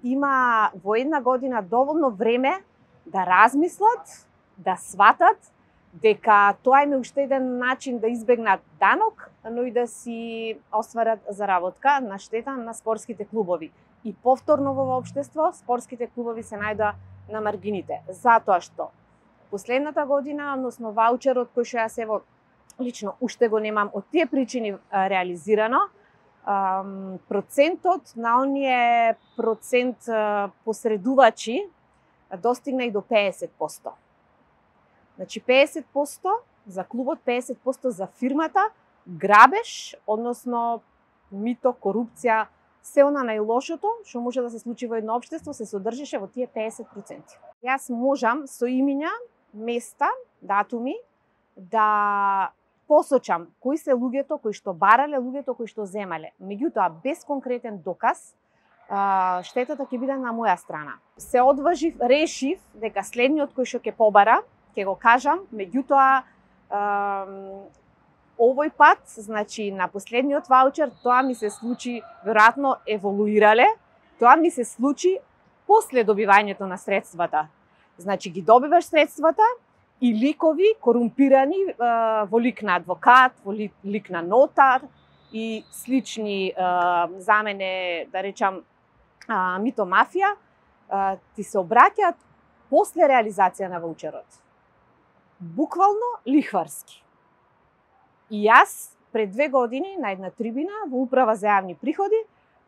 има во една година доволно време да размислат, да сватат дека тоа им е уште еден начин да избегнат данок, но и да си остварат заработка на штета на спортските клубови. И повторно во општество, спортските клубови се најдоа на маргините. Затоа што последната година, односно ваучерот кој што јас ево лично уште го немам од тие причини реализирано, процентот на оние посредувачи достигна и до 50%. Значи 50% за клубот, 50% за фирмата, грабеж, односно мито, корупција, се она најлошото што може да се случи во едно општество се содржеше во тие 50%. Јас можам со имиња, места, датуми да посочам кои се луѓето кои што барале, луѓето кои што земале. Меѓутоа, без конкретен доказ, штетата ќе биде на моја страна. Се одважив, решив дека следниот кој што ќе побара, ќе го кажам, меѓутоа овој пат, значи на последниот ваучер, тоа ми се случи, веројатно еволуирале, тоа ми се случи после добивањето на средствата. Значи ги добиваш средствата и ликови корумпирани во лик на адвокат, во лик на нотар и слични за мене, да речам, мито мафија, ти се обраќаат после реализација на ваучерот. Буквално лихварски. И јас пред 2 години на една трибина во Управа за јавни приходи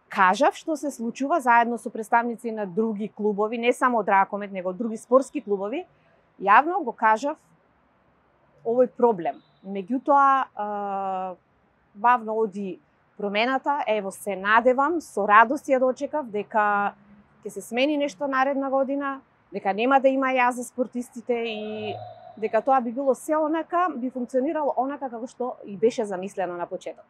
кажав што се случува заедно со представници на други клубови, не само од Ракомет, него од други спортски клубови, јавно го кажав овој проблем. Меѓутоа, бавно оди промената, ево се надевам, со радост ја дочекав дека ќе се смени нешто наредна година, дека нема да има јаз за спортистите и дека тоа би било се онака, би функционирало онака како што и беше замислено на почеток.